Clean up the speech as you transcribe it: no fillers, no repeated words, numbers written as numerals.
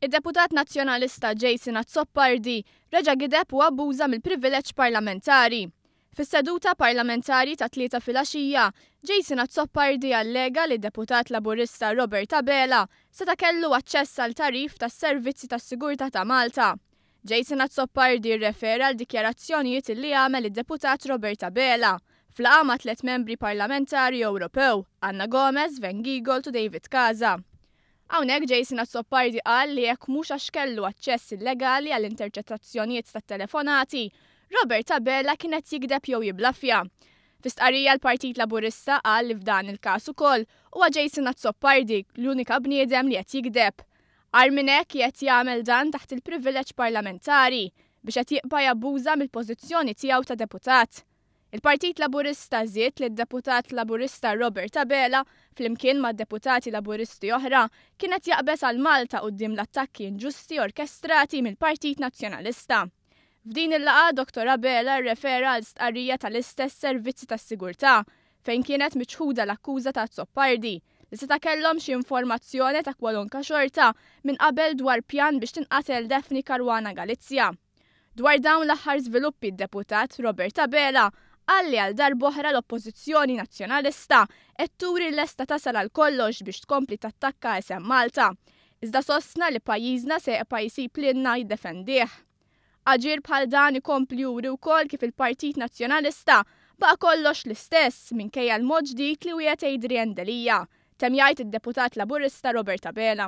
Id-deputat Nazzjonalista Jason Azzopardi reġa' gideb u abbuża mill-privileġġ parlamentari. Fis-seduta parlamentari tat-Tlieta filgħaxija, Jason Azzopardi allega li d-deputat Laburista Robert Abela seta' kellu aċċess għal tagħrif tas-Servizzi tas-Sigurtà ta' Malta. Jason Azzopardi rrefera għal dikjarazzjonijiet li għamel id-deputat Robert Abela f'laqgħa ma' tlett membri parlamentari Ewropew, Anna Gomez, Sven Giegold u David Casa. Hawnhekk Jason Azzopardi qal li jekk mhux għax kellu aċċess illegali għal interċettazzjonijiet tat-telefonati, Robert Abela kien qed jigdeb jew jiblaffja. Fi stqarrija l-Partit Laburista qal li f'dan il-każ ukoll huwa Jason Azzopardi l-unika bniedem li qed jigdeb. Agħar minn hekk qiegħed jagħmel dan taħt il-privileġġ parlamentari biex qed jibqa' jabbuża mill-pożizzjoni tiegħu ta' deputat. Il-Partit Laburista żied li d-Deputat Laburista Robert Abela, flimkien ma' deputati Laburisti oħra, kien qed jaqbeż għal Malta quddiem l-attakki inġusti orkestrati mill-Partit Nazzjonalista. F'din il-laqgħa Dottor Abela rrefera għal stqarrija tal-istess servizzi tas-sigurtà fejn kienet miċħuda l-akkuża ta' Azzopardi li seta' kellhom xi informazzjoni ta' kwalunka xorta minn qabel dwar pjan biex tinqatel Daphne Caruana Galizia. Dwar dawn l-aħħar żviluppi d-Deputat Robert Abela qal li għal darb'oħra l-Oppożizzjoni Nazzjonalista qed turi lesta tasal għal kollox biex tkompli tattakka isem Malta. Iżda sostna li pajjiżna se jibqa' jsib lilna jiddefendih. Aġir bħal dan ikompli juri wkoll kif il-Partit Nazzjonalista baqa' kollox l-istess minkejja l-mod ġdid li wiegħed Adrian Delia, temm jgħid id-Deputat Laburista Robert Abela.